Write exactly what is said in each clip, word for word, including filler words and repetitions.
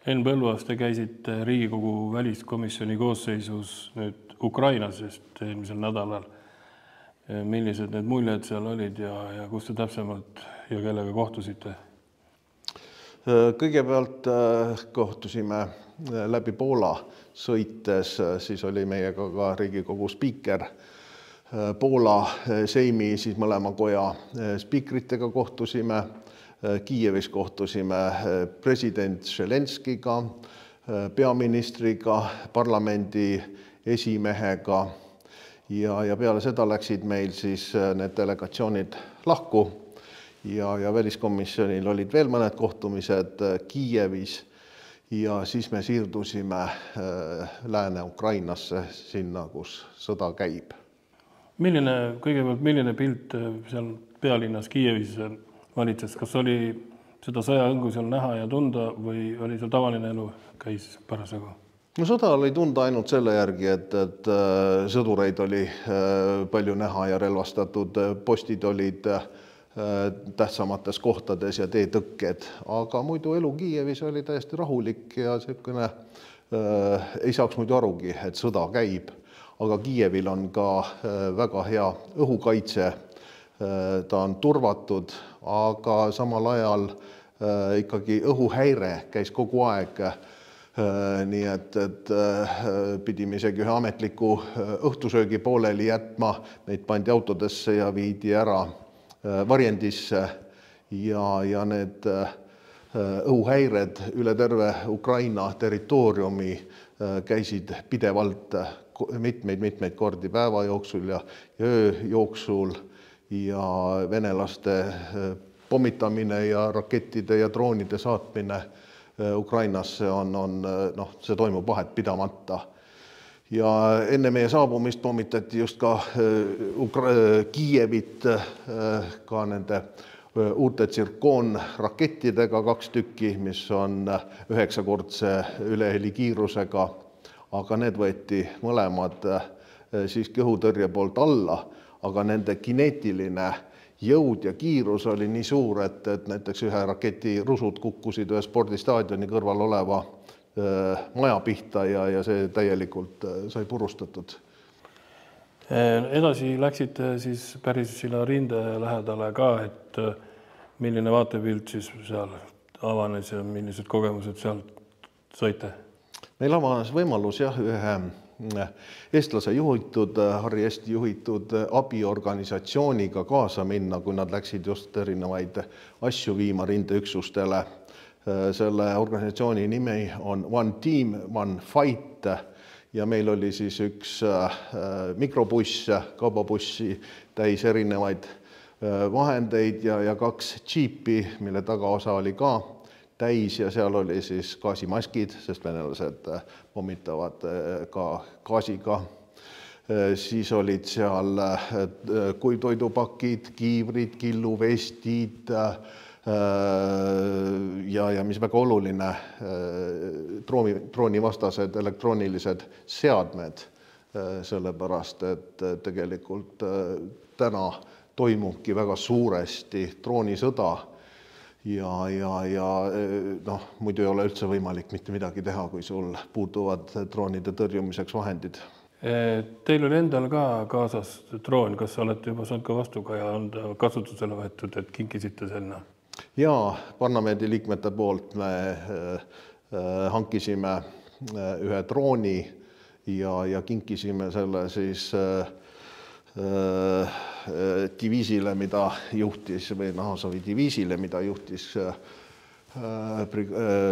Henn Põlluaas, te käisite Riigikogu väliskomisjoni koosseisus nüüd Ukrainas just eelmisel nädalal. Millised need muljed seal olid ja, ja kus te täpsemalt ja kellega kohtusite? Kõigepealt kohtusime läbi Poola sõites, siis oli meiega ka Riigikogu spiiker Poola Seimi, siis mõlema koja spiikritega kohtusime. Kiievis kohtusime president Zelenskiga, peaministriga, parlamendi esimehega ja, ja peale seda läksid meil siis need delegatsioonid lahku ja, ja väliskomisjonil olid veel mõned kohtumised Kiievis ja siis me siirdusime Lääne-Ukrainasse sinna, kus sõda käib. Milline, kõigepealt, milline pilt seal pealinnas Kiievis valitses? Kas oli seda sõjaõngu seal näha ja tunda või oli seal tavaline elu käis parasjagu? No sõda oli tunda ainult selle järgi, et, et sõdureid oli palju näha ja relvastatud postid olid tähtsamates kohtades ja teetõkked, aga muidu elu Kiievis oli täiesti rahulik ja selline, äh, ei saaks muidu arugi, et sõda käib, aga Kiievil on ka väga hea õhukaitse, ta on turvatud, aga samal ajal äh, ikkagi õhuhäire käis kogu aeg, äh, nii et, et äh, pidime isegi ühe ametliku õhtusöögi pooleli jätma, neid pandi autodesse ja viidi ära varjendisse ja, ja need õhuhäired üle terve Ukraina territooriumi käisid pidevalt mitmeid-mitmeid kordi päeva jooksul ja öö jooksul ja venelaste pommitamine ja rakettide ja droonide saatmine Ukrainasse on, on, noh, see toimub vahet pidamata. Ja enne meie saabumist pommitati just ka Kiievit ka nende uute tsirkoonrakettidega kaks tükki, mis on üheksakordse ülehelikiirusega, aga need võeti mõlemad siiski õhutõrje poolt alla, aga nende kineetiline jõud ja kiirus oli nii suur, et, et näiteks ühe raketi rusud kukkusid ühe spordistaadioni kõrval oleva maja pihta ja, ja see täielikult sai purustatud. Edasi läksite siis päris silla rinde lähedale ka, et milline vaatepilt siis seal avanes ja millised kogemused seal saite? Meil avanes võimalus jah, ühe eestlase juhitud, Harri Eesti juhitud abiorganisatsiooniga kaasa minna, kui nad läksid just erinevaid asju viima rindeüksustele. Selle organisatsiooni nimi on One Team, One Fight ja meil oli siis üks mikrobuss, kaubabussi täis erinevaid vahendeid ja, ja kaks džiipi, mille tagaosa oli ka täis ja seal oli siis gaasimaskid, sest venelased pommitavad ka gaasiga. Siis olid seal kuivtoidupakid, kiivrid, killuvestid, ja, ja mis väga oluline, drooni, droonivastased elektroonilised seadmed, sellepärast, et tegelikult täna toimubki väga suuresti droonisõda ja, ja, ja noh, muidu ei ole üldse võimalik mitte midagi teha, kui sul puutuvad droonide tõrjumiseks vahendid. Teil oli endal ka kaasas droon, kas olete juba saanud ka vastuga ja on kasutusele võetud, et kinkisite selna? Jaa, parlamendi liikmete poolt me hankisime ühe drooni ja, ja kinkisime selle siis diviisile, mida juhtis, või Nahasovi diviisile, mida juhtis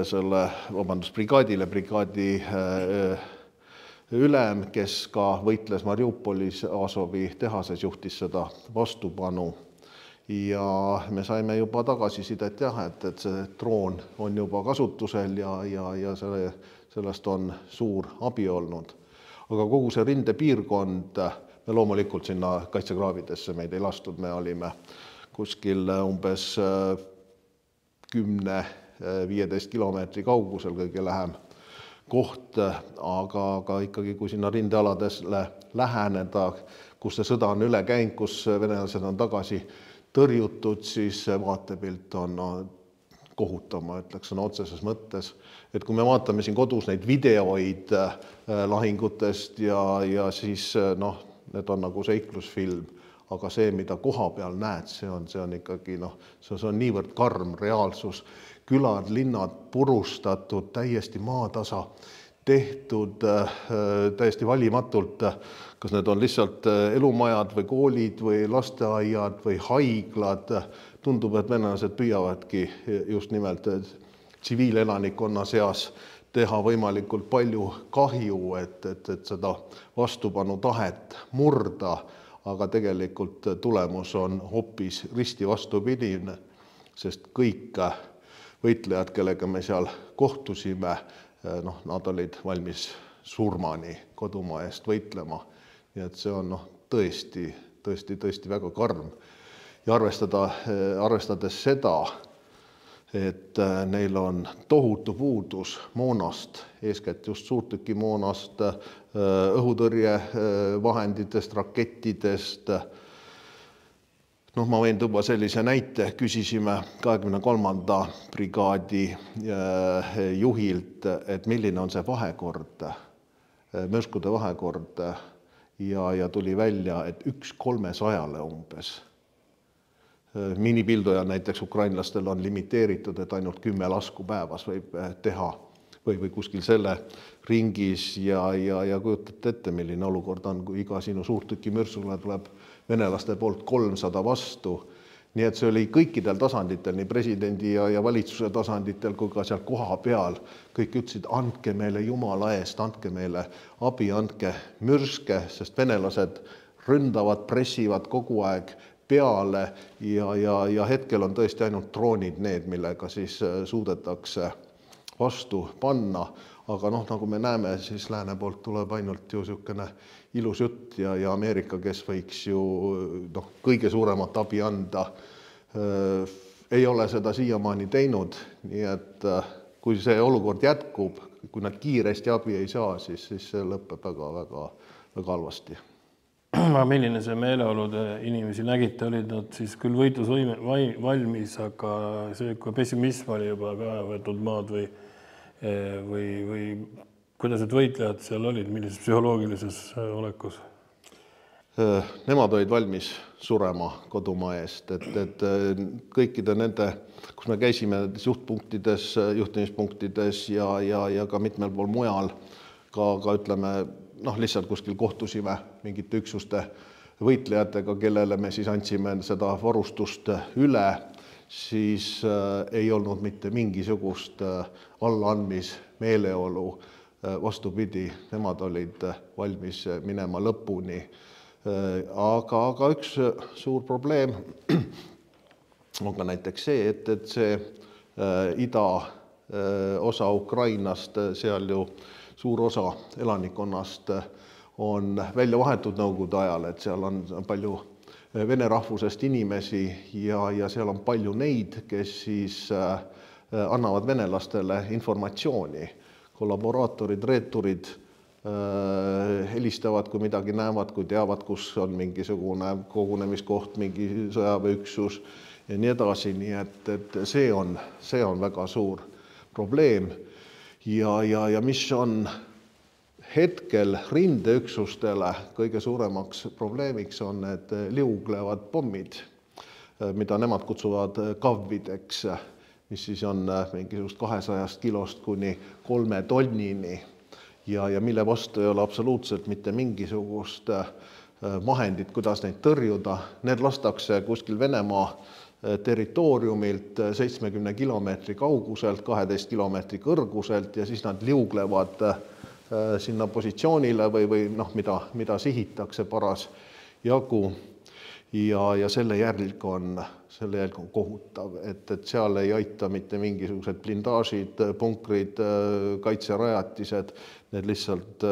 selle, vabandust, brigaadile, brigaadi ülem, kes ka võitles Mariupolis Azovi tehases, juhtis seda vastupanu. Ja me saime juba tagasisidet jah, et, et see droon on juba kasutusel ja, ja, ja selle, sellest on suur abi olnud. Aga kogu see rindepiirkond, me loomulikult sinna kaitsekraavidesse meid ei lastud, me olime kuskil umbes kümne viieteist kilomeetri kaugusel kõige lähem koht, aga, aga ikkagi kui sinna rindealadesle läheneda, kus see sõda on üle käinud, kus venelased on tagasi tõrjutud, siis vaatepilt on kohutav, ma ütleks sõna otseses mõttes. Et kui me vaatame siin kodus neid videoid lahingutest ja, ja siis noh, need on nagu seiklusfilm, aga see, mida koha peal näed, see on, see on ikkagi noh, see on niivõrd karm reaalsus. Külad, linnad purustatud, täiesti maatasa tehtud, täiesti valimatult, kas need on lihtsalt elumajad või koolid või lasteaiad või haiglad. Tundub, et venelased püüavadki just nimelt tsiviilelanikkonna seas teha võimalikult palju kahju, et, et, et seda vastupanu tahet murda, aga tegelikult tulemus on hoopis risti vastupidine, sest kõik võitlejad, kellega me seal kohtusime, noh, nad olid valmis surmani kodumaa eest võitlema. Nii et see on noh, tõesti, tõesti, tõesti väga karm. Ja arvestada, arvestades seda, et neil on tohutu puudus moonast, eeskätt just suurtükimoonast, õhutõrjevahenditest, rakettidest. Noh, ma võin tuua sellise näite, küsisime kahekümne kolmanda brigaadi juhilt, et milline on see vahekord, mürskude vahekord ja, ja tuli välja, et üks kolmesajale umbes. Minipilduja näiteks ukrainlastel on limiteeritud, et ainult kümme lasku päevas võib teha või, või kuskil selle ringis ja, ja, ja kujutate ette, milline olukord on, kui iga sinu suurtüki mürsule tuleb venelaste poolt kolmsada vastu. Nii et see oli kõikidel tasanditel, nii presidendi ja, ja valitsuse tasanditel, kui ka seal koha peal. Kõik ütlesid, andke meile Jumala eest, andke meile abi, andke mürske, sest venelased ründavad, pressivad kogu aeg peale ja, ja, ja hetkel on tõesti ainult droonid need, millega siis suudetakse vastu panna. Aga noh, nagu me näeme, siis lääne poolt tuleb ainult ju niisugune ilus jutt ja, ja Ameerika, kes võiks ju noh, kõige suuremat abi anda, ei ole seda siiamaani teinud. Nii et kui see olukord jätkub, kui nad kiiresti abi ei saa, siis, siis see lõpeb väga, väga, väga halvasti. Milline see meeleolude inimesi nägite, olid nad siis küll võitlusvõime valmis, aga see, kui pessimism oli juba ka võetud maad või, või, või kuidas need võitlejad seal olid, millises psühholoogilises olekus? Nemad olid valmis surema kodumaa eest, et, et kõikide nende, kus me käisime juhtpunktides, juhtimispunktides ja, ja, ja ka mitmel pool mujal, ka, ka ütleme, noh, lihtsalt kuskil kohtusime mingite üksuste võitlejatega, kellele me siis andsime seda varustust üle, siis ei olnud mitte mingisugust allaandmis meeleolu. Vastupidi, nemad olid valmis minema lõpuni. Aga, aga üks suur probleem on ka näiteks see, et, et see ida osa Ukrainast, seal ju suur osa elanikkonnast on välja vahetud nõukogude ajal, et seal on palju vene rahvusest inimesi ja, ja seal on palju neid, kes siis annavad venelastele informatsiooni. Kollaboraatorid, reeturid helistavad, kui midagi näevad, kui teavad, kus on mingisugune kogunemiskoht, mingi sõjaväeüksus ja nii edasi. Nii et, et see on, see on väga suur probleem. Ja, ja, ja mis on hetkel rindeüksustele kõige suuremaks probleemiks on need liuglevad pommid, mida nemad kutsuvad kavvideks, mis siis on mingisugust kahesajast kilost kuni kolme tonnini ja, ja mille vastu ei ole absoluutselt mitte mingisugust vahendit, kuidas neid tõrjuda. Need lastakse kuskil Venemaa territooriumilt seitsmekümne kilomeetri kauguselt, kaheteist kilomeetri kõrguselt ja siis nad liuglevad sinna positsioonile või, või noh, mida, mida sihitakse paras jagu ja, ja selle jälg on, selle jälg on kohutav, et, et seal ei aita mitte mingisugused blindaažid, punkrid, kaitserajatised, need lihtsalt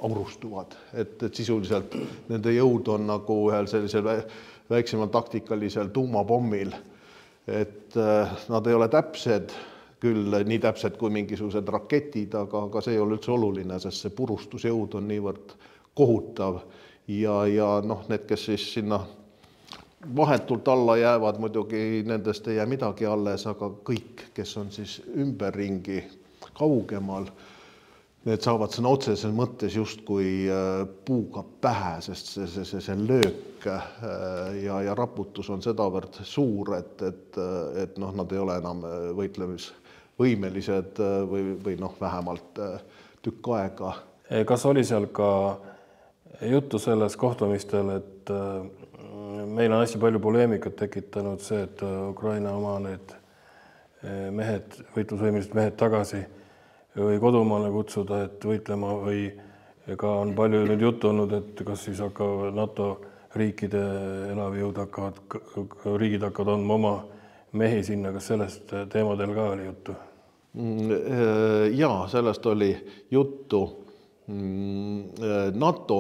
aurustuvad, et, et sisuliselt nende jõud on nagu ühel sellisel väiksemal taktikalisel tuumapommil, et nad ei ole täpsed, küll nii täpsed kui mingisugused raketid, aga, aga see ei ole üldse oluline, sest see purustusjõud on niivõrd kohutav ja, ja noh, need, kes siis sinna vahetult alla jäävad, muidugi nendest ei jää midagi alles, aga kõik, kes on siis ümberringi kaugemal, need saavad sõna otseses mõttes justkui puuga pähe, sest see, see, see, see löök ja, ja raputus on sedavõrd suur, et, et, et noh, nad ei ole enam võitlemisvõimelised või, või noh, vähemalt tükk aega. Kas oli seal ka juttu selles kohtumistel, et meil on hästi palju poleemikat tekitanud see, et Ukraina oma need mehed, võitlusvõimelised mehed tagasi või kodumaale kutsuda, et võitlema või ka on palju nüüd juttu olnud, et kas siis hakkavad NATO riikide elavjõud hakkavad, riigid hakkavad andma oma mehi sinna, kas sellest teemadel ka oli juttu? Jaa, sellest oli juttu. NATO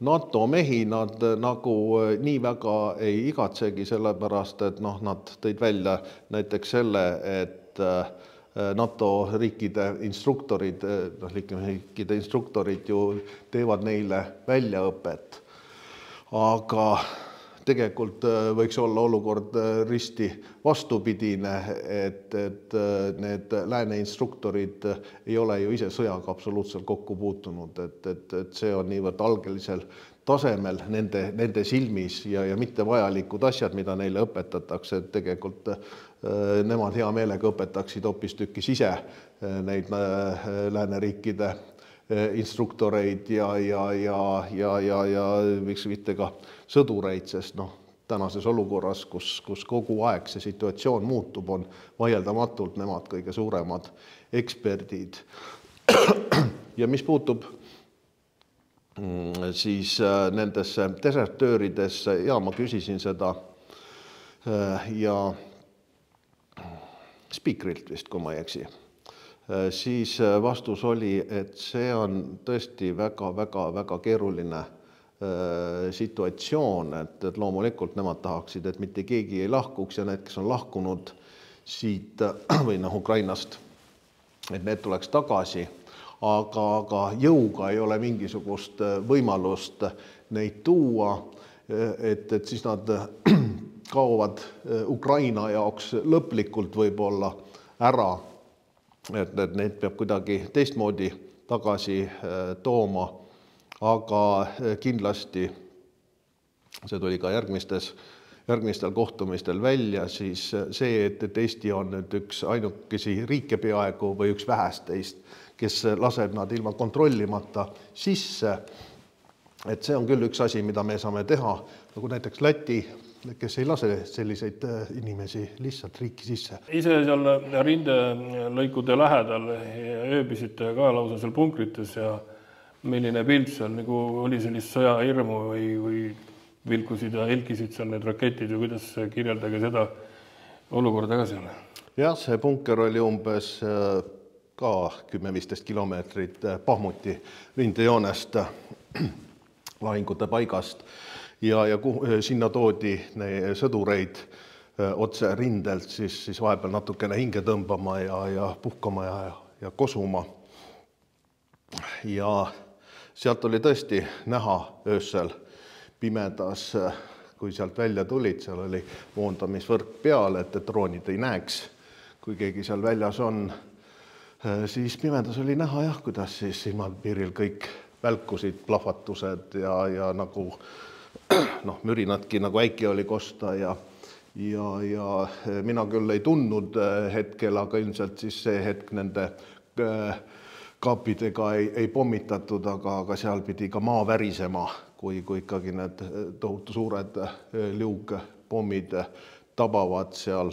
NATO mehi nad nagu nii väga ei igatsegi sellepärast, et noh, nad tõid välja näiteks selle, et NATO riikide instruktorid, noh, riikide instruktorid ju teevad neile väljaõpet. Aga tegelikult võiks olla olukord risti vastupidine, et, et need lääne instruktorid ei ole ju ise sõjaga absoluutselt kokku puutunud, et, et, et see on niivõrd algelisel tasemel nende, nende silmis ja, ja mitte vajalikud asjad, mida neile õpetatakse, et tegelikult nemad hea meelega õpetaksid hoopis tükis ise neid lääneriikide instruktoreid ja, ja, ja, ja, ja, ja miks mitte ka sõdureid, sest noh, tänases olukorras, kus, kus kogu aeg see situatsioon muutub, on vaieldamatult nemad kõige suuremad eksperdid. Ja mis puutub siis nendesse desertööridesse, ja ma küsisin seda ja spiikrilt vist, kui ma ei eksi, siis vastus oli, et see on tõesti väga, väga, väga keeruline situatsioon, et, et loomulikult nemad tahaksid, et mitte keegi ei lahkuks ja need, kes on lahkunud siit või noh, Ukrainast, et need tuleks tagasi, aga, aga jõuga ei ole mingisugust võimalust neid tuua, et, et siis nad kaovad Ukraina jaoks lõplikult võib-olla ära, et, et neid peab kuidagi teistmoodi tagasi tooma. Aga kindlasti, see tuli ka järgmistes, järgmistel kohtumistel välja, siis see, et, et Eesti on nüüd üks ainukesi riike peaaegu või üks vähesteist, kes laseb nad ilma kontrollimata sisse, et see on küll üks asi, mida me saame teha, nagu näiteks Läti, kes ei lase selliseid inimesi lihtsalt riiki sisse. Ise seal rindelõikude lähedal ööbisite ka lausa seal punkrites ja milline pilt seal nagu oli sellist sõjahirmu või, või vilkusid ja helkisid seal need raketid ja kuidas kirjeldage seda olukorda ka seal? Jah, see bunker oli umbes ka kümme viisteist kilomeetrit Bahmuti rindejoonest lahingute paigast ja, ja sinna toodi sõdureid otse rindelt, siis, siis vahepeal natukene hinge tõmbama ja, ja puhkama ja, ja kosuma. Ja sealt oli tõesti näha öösel pimedas, kui sealt välja tulid, seal oli moondamisvõrk peal, et droonid ei näeks, kui keegi seal väljas on. Siis pimedas oli näha jah, kuidas siis silmapiiril kõik välkusid, plahvatused ja, ja nagu noh, mürinadki nagu äiki oli kosta ja, ja, ja mina küll ei tundnud hetkel, aga ilmselt siis see hetk nende kaapidega ei, ei pommitatud, aga, aga seal pidi ka maa värisema, kui, kui ikkagi need tohutu suured liugpommid tabavad seal.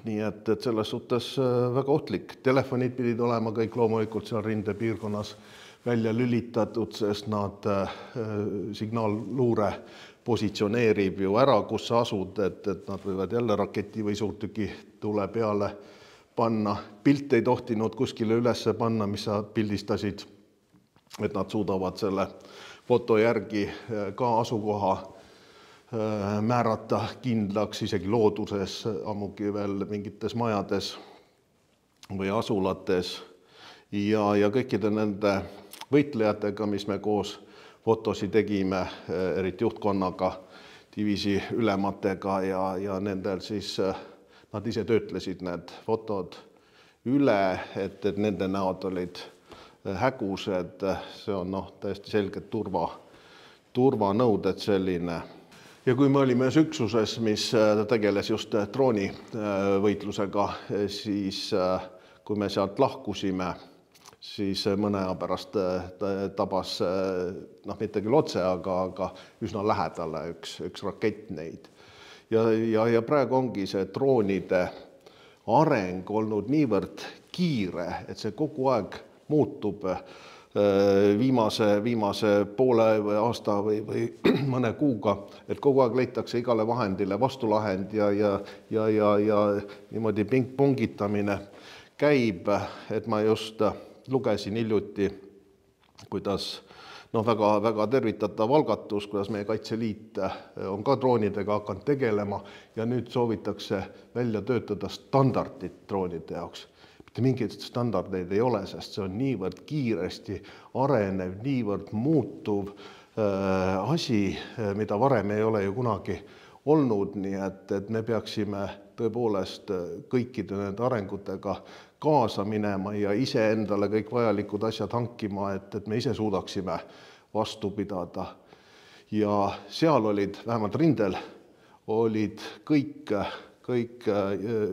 Nii et, et selles suhtes väga ohtlik. Telefonid pidid olema kõik loomulikult seal rindepiirkonnas välja lülitatud, sest nad signaalluure positsioneerib ju ära, kus sa asud, et, et nad võivad jälle raketi või suurtüki tule peale panna. Pilt ei tohtinud kuskile üles panna, mis sa pildistasid, et nad suudavad selle foto järgi ka asukoha määrata kindlaks, isegi looduses, ammugi veel mingites majades või asulates. Ja, ja kõikide nende võitlejatega, mis me koos fotosi tegime, eriti juhtkonnaga, diviisi ülematega ja, ja nendel siis nad ise töötlesid need fotod üle, et, et nende näod olid hägused, see on noh, täiesti selged turva, turvanõuded selline. Ja kui me olime ühes üksuses, mis tegeles just droonivõitlusega, siis kui me sealt lahkusime, siis mõne aja pärast tabas, noh, mitte küll otse, aga, aga üsna lähedale üks, üks rakett neid. Ja, ja, ja praegu ongi see droonide areng olnud niivõrd kiire, et see kogu aeg muutub viimase, viimase poole aasta või, või mõne kuuga, et kogu aeg leitakse igale vahendile vastulahend ja, ja, ja, ja, ja niimoodi pingpongitamine käib, et ma just lugesin hiljuti, kuidas noh, väga, väga tervitatav algatus, kuidas meie Kaitseliit on ka droonidega hakanud tegelema ja nüüd soovitakse välja töötada standardit droonide jaoks. Mitte mingeid standardeid ei ole, sest see on niivõrd kiiresti arenev, niivõrd muutuv äh, asi, mida varem ei ole ju kunagi olnud, nii et, et me peaksime tõepoolest kõikide nende arengutega kaasa minema ja ise endale kõik vajalikud asjad hankima, et, et me ise suudaksime vastu pidada. Ja seal olid, vähemalt rindel, olid kõik, kõik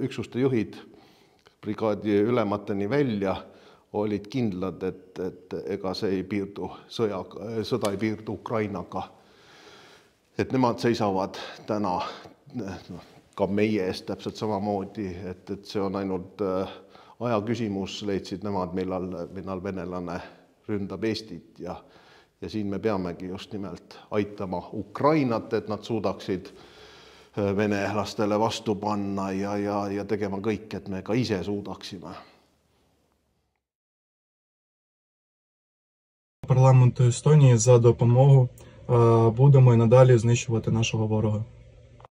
üksuste juhid, brigaadi ülemateni välja, olid kindlad, et, et ega see ei piirdu sõja, sõda ei piirdu Ukrainaga. Et nemad seisavad täna no, ka meie eest täpselt samamoodi, et, et see on ainult aja küsimus, leidsid nemad, millal, millal venelane ründab Eestit ja, ja siin me peamegi just nimelt aitama Ukrainat, et nad suudaksid venelastele vastu panna ja, ja, ja tegema kõik, et me ka ise suudaksime. Парламенту Естонії за допомогу. Будемо і надалі знищувати нашого ворога.